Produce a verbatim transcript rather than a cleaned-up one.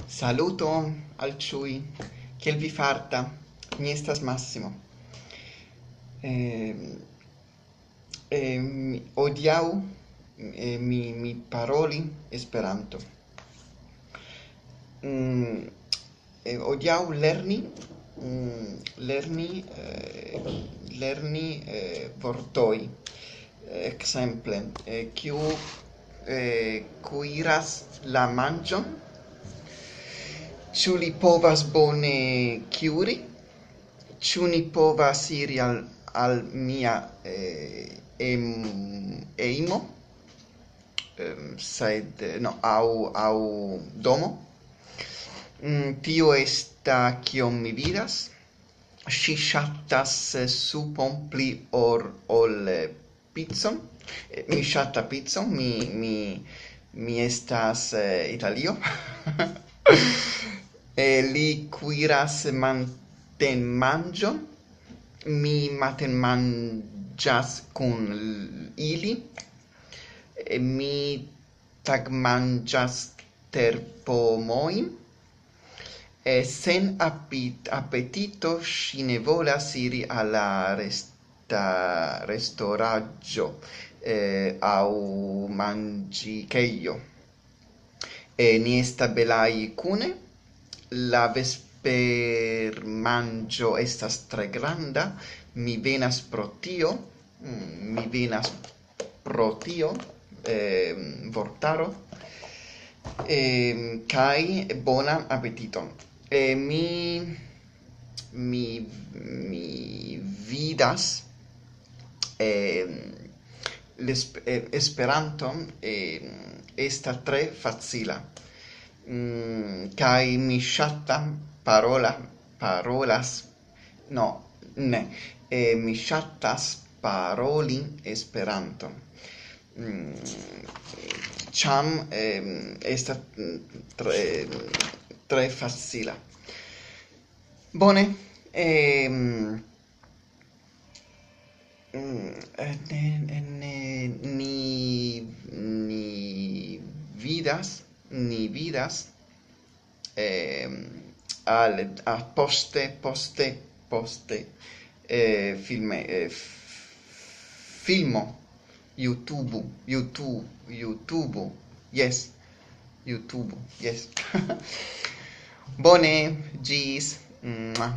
Saluton al ĉiuj. Kiel vi farta? Mi estas Massimo. Ehm, ehm, Hodiaŭ, eh, mi, mi paroli Esperanto. Mm, eh, hodiaŭ lerni, mm, lerni, eh, lerni, eh, vortoj. Ekzemple, eh, kiu, eh, kuiras la manĝon? Ĉu li povas bone kuiri? Ĉu ni povas iri al, al mia, eh, em-, hejmo? Em, sed, eh, no, aŭ, aŭ domo? Mm, tio esta kion mi vidas. Ŝi ŝatas, eh, supon pli or-, ol, eh, picon. Eh, mi ŝata picon, mi, mi, mi estas, eh, Italio. Eh, li kuiras matenmanĝon. Mi matenmanĝas kun l-, ili. Eh, mi tagmanĝas terpomojn. Eh, sen apit-, apetito ŝi ne volas iri al la resta-, restoraĝo, eh, aŭ manĝikejo. Eh, ni esta belaj kune. La vespermanĝo estas tre granda. Mi venas pro tio. Mm, mi venas pro tio, ehm, vortaro, ehm, kaj bonan apetiton. Eh, mi, mi, mi vidas, ehm, l'esp-, eh, Esperanton, ehm, esta tre facila. Mm, kaj mi ŝata parola-, parolas, no, ne, eh, mi ŝatas paroli Esperanton. Mm, ĉam, ehm, estas, mm, tre, tre facila. Bone, ehm, mm, eh, ne, ne, ne, ni, ni vidas, ni vidas, ehm, al, a poste, poste, poste, eh, filme, eh, f-, filmo, YouTube, YouTube, YouTube, yes, YouTube, yes. Bone, ĝis. Mua.